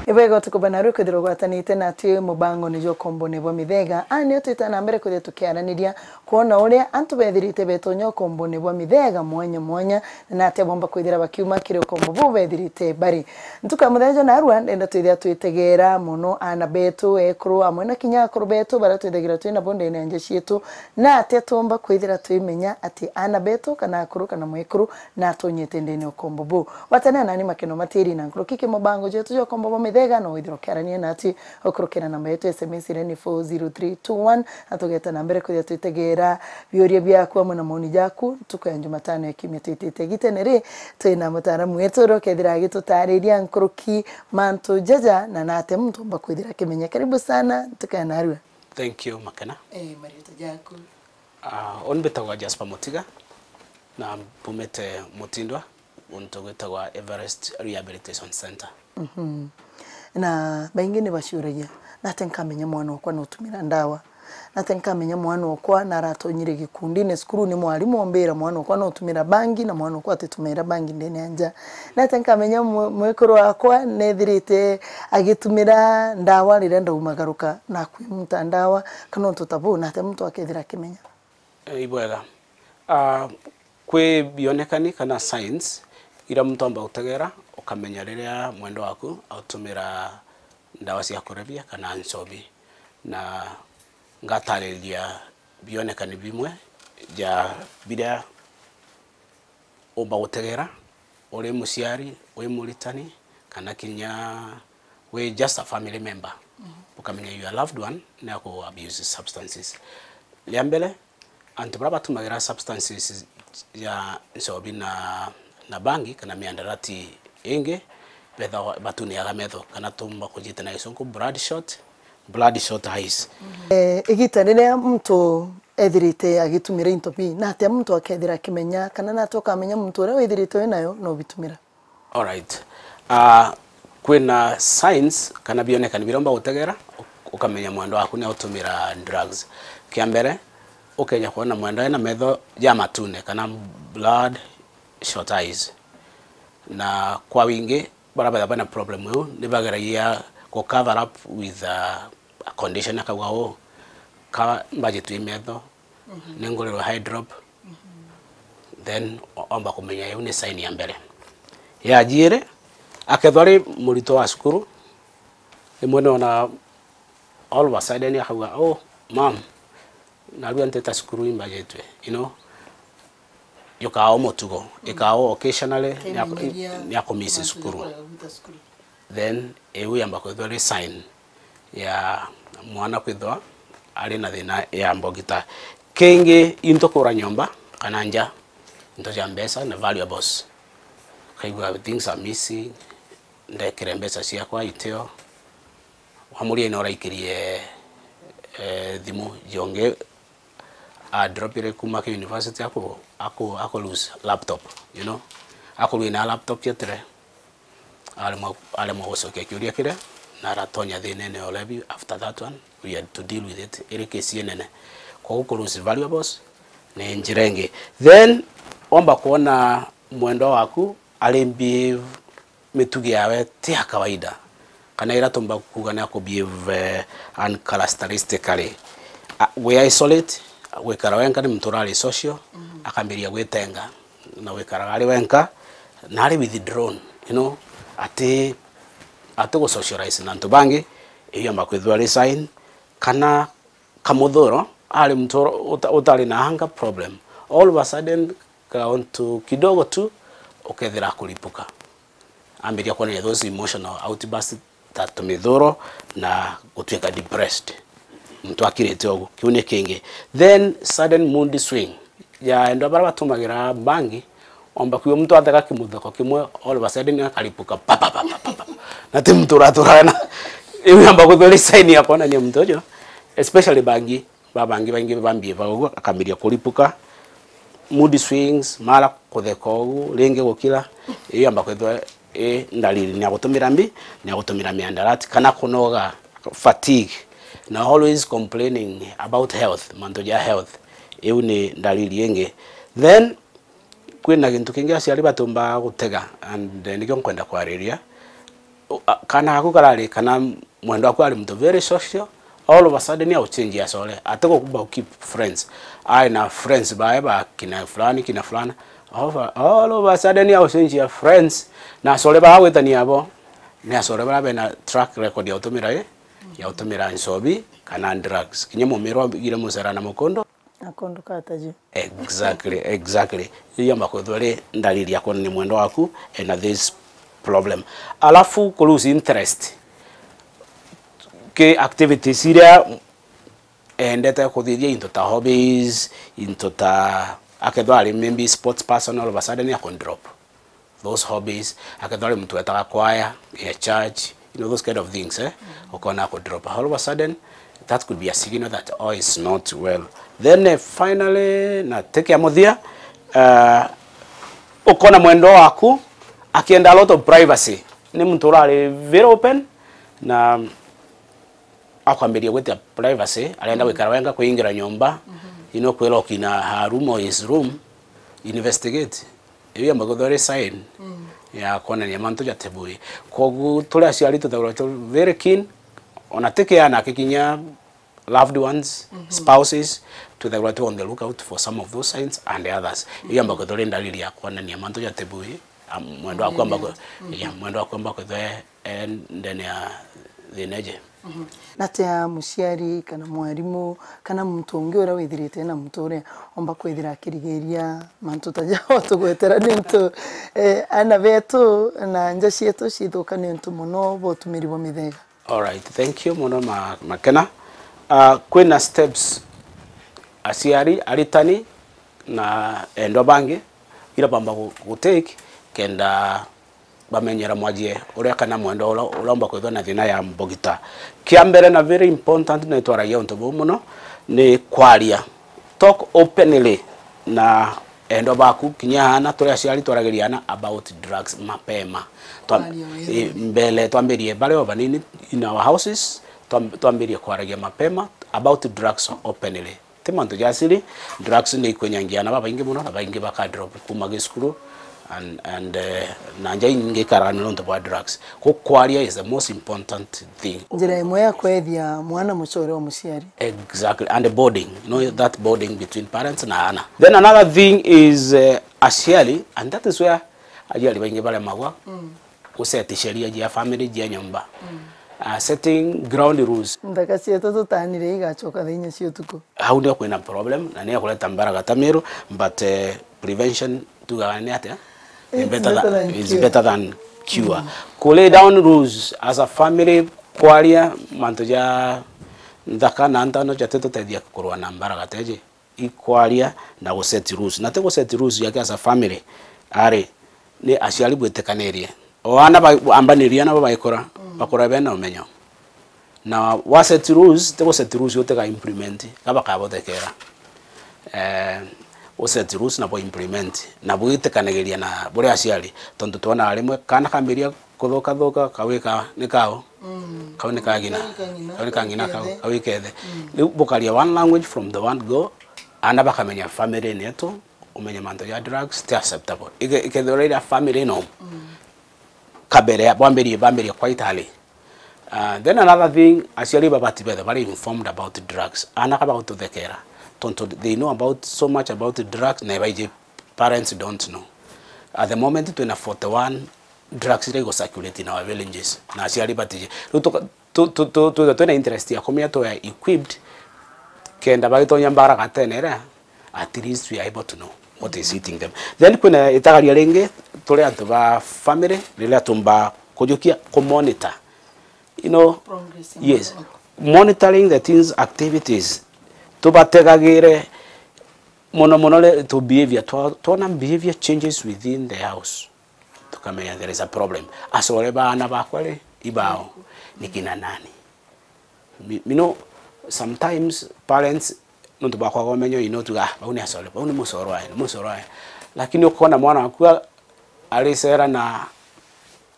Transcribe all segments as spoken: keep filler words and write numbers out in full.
Ibwega utuku bana rwi kwithirwa ugwatanite natwi mubangone jwa ukombone bwa mithega. Aa nio twita na mbere kwithirwa tukiaraniria kwona uria antu bethirite betonya ukombone bwa mithega mwanya mwanya, na atia bomba kwithira bakiuma kiri ukombo buu bethirite bari. Ntuku ya muthenya jwa narua, ndenda twithira twitegera mono aana betu ekuru amwe na kinya akuru betu baria twithagira twi nabo ndene ya nja cietu, na atia tuumba kwithira twimenya ati aana betu kana akuru kana mwekuru natonyete ndene ya ukombo buu. Gwatanira nani Makeno Matiri na nkuruki ki mubango jetu jwa ukombo bwa mithega, na withira ukiarania natwi ukurukira namba yetu ya S M S iria ni four zero three two one, na tugeta na mbere kwithira twitegera biuria biaku amwe na maoni jaku ntuku ya Jumatano ya kiumia twitite. Gitene ri, twina mutaaramu wetu uria ukethira agitutariria nkuruki mantu jaja na nate muntu umba kwithira akimenya. Karibu sana ntuku ya narua. Thank you, Makena. Eh, marieta jaku? Ah, uni mbitagwa Jasper Mutiga, na mbumite Mutindwa, untu gwitagwa Everest Rehabilitation Center. Mhm. Na baingi ni baciuragia, "Nate nkamenya mwana okwa nutumira ndawa? Nate nkamenya mwana okwa naratonyire gikundine cukuru, ni mwarimu ombira mwana okwa nutumira bangi na mwana okwa atitumira bangi ndene ya nja? Nate nkamenya mwe-, mwekuru wakwa nethirite agitumira ndawa riria ndaumagaruka na akwimuta ndawa, kana untu ta buu, nate muntu akethira akimenya?" Eh, ibwega. Ah, kwi bionekani kana signs iria muntu amba gutegera ukamenya riria mwendwa waku autumira ndawa cia kurebia kana nchobi, na ngatariria bionekani bimwe ja biria umba gutegera uri muciari, wi muritani, kana kinya wi just a family member, ukamenya your loved one ni aku abuse substances. Ria mbere, antu baria batumagira substances ya nchobi na, na bangi kana miandarati ingi, bethawa batuniaga metho, kana tumba kujita na gisungu bloodshot, bloodshot eyes. Eh, igita riria muntu ethirite agitumira into bii, na atia muntu akethira akimenya, kana nate ukamenya muntu uria withirite wi nayo no bitumira? Alright. Ah, kwina signs kana bionekani biria umba gutegera, u-, ukamenya mwendwa waku ni autumira drugs. Kia mbere, ukenya kwona mwendwa ena metho ja matune kana blood shot eyes. Na kwa wingi, baria betha bena problem iu, ni bageragia ku cover up with a, a condition, akauga, "Oh, ka mbajitwe i metho, ni ngurirwe eye drop." Then o-, omba kumenya iu ni sign ya mbere. Ya jiiri, akethwa ari muritwa wa cukuru, rimwe ni ona all of a sudden akauga, "Oh, mom, narua nteta cukuru imbajitwe, you know, yukaa o mutugo, ikaa o occasionally, ni aku-, ni akumisi cukuru." Then iu yamba kwithwa ri sign ya mwana kwithwa ari na thina ya mbogita. Kingi, into kura nyomba kana nja, into ja mbeca na valuables. Kaigua things are missing, ndekire mbeca ciakwa itio. Wamuria ino uraikirie, eh, thimu jongi adropire kuma ki university, aku, aku, aku lose laptop, you know. Akurua na laptop yetire, aremwa, aremwa gucokia kiuria kiria, na aratonya thinene ya ulevi. After that one, we had to deal with it, iri case inene. Koguo ku lose valuables ni njira ingi. Then, wamba kuona mwendwa waku ari behave mitugi yawe ti ya kawaida, kana ira tumba kuuga ni aku behave, eh, uncharacteristically. A, we isolate, gwikara wenka, ni muntu urari social, akambiria gwitenga na gwikaraga ari wenka, na ari withdrawn, you know, ati, ati gu socialize na antu bangi, iyo yamba kwithwa ari sign, kana kamuthuro, ari muntu uta-, utari na anger problem. All of a sudden, kauntu kidogo tu, ukethira akuripuka. Ambiria kuonania those emotional outbursts ta tumithuro na gutuika depressed. Muntu akirite ugu. Kiu ni kingi. Then sudden mood swing. Ya endwa baria batumagira bangi, omba kwigua muntu atheka kimutheko kimwe, all of a sudden akaripuka, pa, pa, pa. Na ti muntu uraturaga na. Iu yamba kwithwa iri sign ya kuonania muntu uju, especially bangi, babangi baingi bambie ba uguo, akambiria kuripuka, mood swings, mara kutheka ugu, ringi gukira, iyo yamba kwithwa i ndariri ni ya gutumira mbi, ni ya gutumira miandarati, kana kunoga, fatigue, na always complaining about health, mantu ja health, iu ni ndariri ingi. Then, kwina gintu kingi aciari batumbaga gutega, and nikio nkwenda kwariria. U-, a-, kana gaku karari kana mwendwa waku ari muntu very social, all of a sudden au change acore. Ati gukumba ku keep friends. Ai na friends bae ba kina fulani, kina fulani. All of a, all of a sudden au change ya friends. Na acore ba gwitania abo, ni acore bara bena track record ya utumira i, ya utumira nchobi kana drugs. Kinya mumirwa igire mucera na mukondo. Akondo kata ju. Exactly, exactly. Iyo yamba kwithwa ri ndariri ya kwonania mwendwa waku ena this problem. Alafu ku lose interest ki activities iria endete kuthithia, into ta hobbies, into ta, akethwa ari maybe sports person, all of a sudden akon drop those hobbies. Akethwa ari muntu wetaga kwaya ya church, you know, those kind of things, eh? Ukona ako drop. All of a sudden, that could be a signal that all is not well. Then, eh, finally, na tiki ya muthia, uh, ukona mwendwa waku akienda a lot of privacy. Ni muntu urari very open na akwambiria gwita privacy, arenda gwikara wenga, kwingira nyomba, you know, kwira ukina her room or his room, investigate. Iyo yamba kwithwa iri sign ya kwonania mantu jatibui. Koguo turi aciari tuthaurwa tu very keen, ona tiki ana, kinya loved ones, spouses, tuthaurwa tu on the lookout for some of those signs and others. Iyo yamba kwithwa iri ndariri ya kwonania mantu jatibui, am-, mwendwa waku amba kwi-, yeah, mwendwa waku amba kwithwa e ndene ya thina iji. Natia muciari kana mwarimu kana muntu ungi uria withirite na muntu uria omba kwithira akirigiria mantu ta jao tugwetera niuntu, eh, ana betu na nja cietu cithuka niuntu mono bwa utumiri bwa mithega? Alright, thank you mono ma-, Makena. Ah, kwina steps aciari, aritani na endwa bangi ira bamba gu-, gu take kenda bamenyera mwajie uria kana mwendwa uria, uria umba kwithwa na thina ya mbogita. Kia mbere na very important, na itwaragia untu buu mono, ni kwaria. Talk openly na endwa baku, kinya ana, turi aciari twaragiria ana about drugs mapema. Twa-, kwaria wega, i, mbele twambirie bari o banini in our houses, twam-, twambirie kwaragia mapema about drugs openly. Ti mantu ja siri, drugs ni ikwenyangia ana babaingi mono, na baingi baka drop kuma gi cukuru, and, and, eh, na nja ingi ikaragana nontu bwa drugs. Ku kwaria is the most important thing. Njira imwe ya kwethia mwana mucore wa muciari. Exactly, and the bonding, you know, that bonding between parents na ana. Then another thing is, eh, aciari, and that is where aciari baingi baremagwa. Mm. Guseti sheria jia family, jia nyomba. Mm. Ah, setting ground rules. Nthaka cietu tutanire igacoka thaa inya cia utuku. Hau nio kwina problem, na nio kureta mbaragata Meru, but, eh, prevention tugaga ni atia? It's better than, it's better than cure. Mm. Ku lay down rules as a family, kwaria mantu ja nthaka na ntano jatitutethia kurwa na mbaragata iji. Ikwaria na gu set rules. Na ti gu set rules yake as a family. Ari, ni aciari bwitikanirie. O ana ba-, ambanirie ana babaikura, mm, bakura bena umenyo. Na wa set rules, ti gu set rules utiga implement, ka bakabothekera. Eh, u set rules na bo implement, na bwitikanagiria na buri aciari. Tontu twona rimwe, kana kambiria kuthuka thuka, kawika ni kao. Mm. Kau ni kagina. Kau ni kang'ina, kau ni kang'ina, kau, kau ikethe. Mm. Riu bukaria one language from the one go, ana bakamenya family ni yetu, umenye mantu ja drugs ti acceptable. Ike-, ikethirwa ira family no. Mm. Kabere, bwambirie, bambirie quite early. Uh, then another thing, aciari babati bethe bari informed about drugs. Ana kaba gututhekera. Tontu they know about, so much about drugs, na baiji parents don't know. At the moment, twina forty-one drugs iria igo circulate in our villages, na aciari batiji. Riu tuka-, tu-, tu-, tu-, twithwa twina interest ya kumenya twe equipped, kenda bagitonya mbaragatene iria, at least we are able to know what is eating them. Then kwina itagaria ringi, turi antu ba family, riria tumba kujukia, ku monitor. You know, progress ya, yes, mwana waku. Monitoring the teens' activities. Tubategagire mono mono ri, tu behavior, twa-, twona behavior changes within the house. Tukamenya there is a problem. Acore baana bakwa ri, ibao, ni kina nani? Mi-, you know, sometimes parents, nontu bwa kwaga umenyo, you know, tuga, "Ah, bau ni acore, bau ni mucore wae, ni mucore wae." Lakini ukona mwana waku a-, aricera na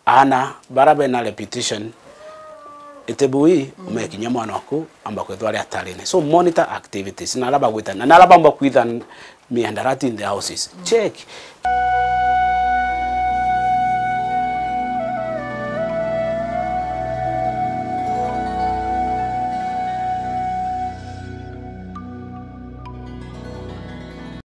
ana bara bena reputation iti bui, mm, umekinya mwana waku amba kwithwa ari atarine. So monitor activities, na ala bagwita, na ala bamba kwitha miandarati in the houses. Mm. Check.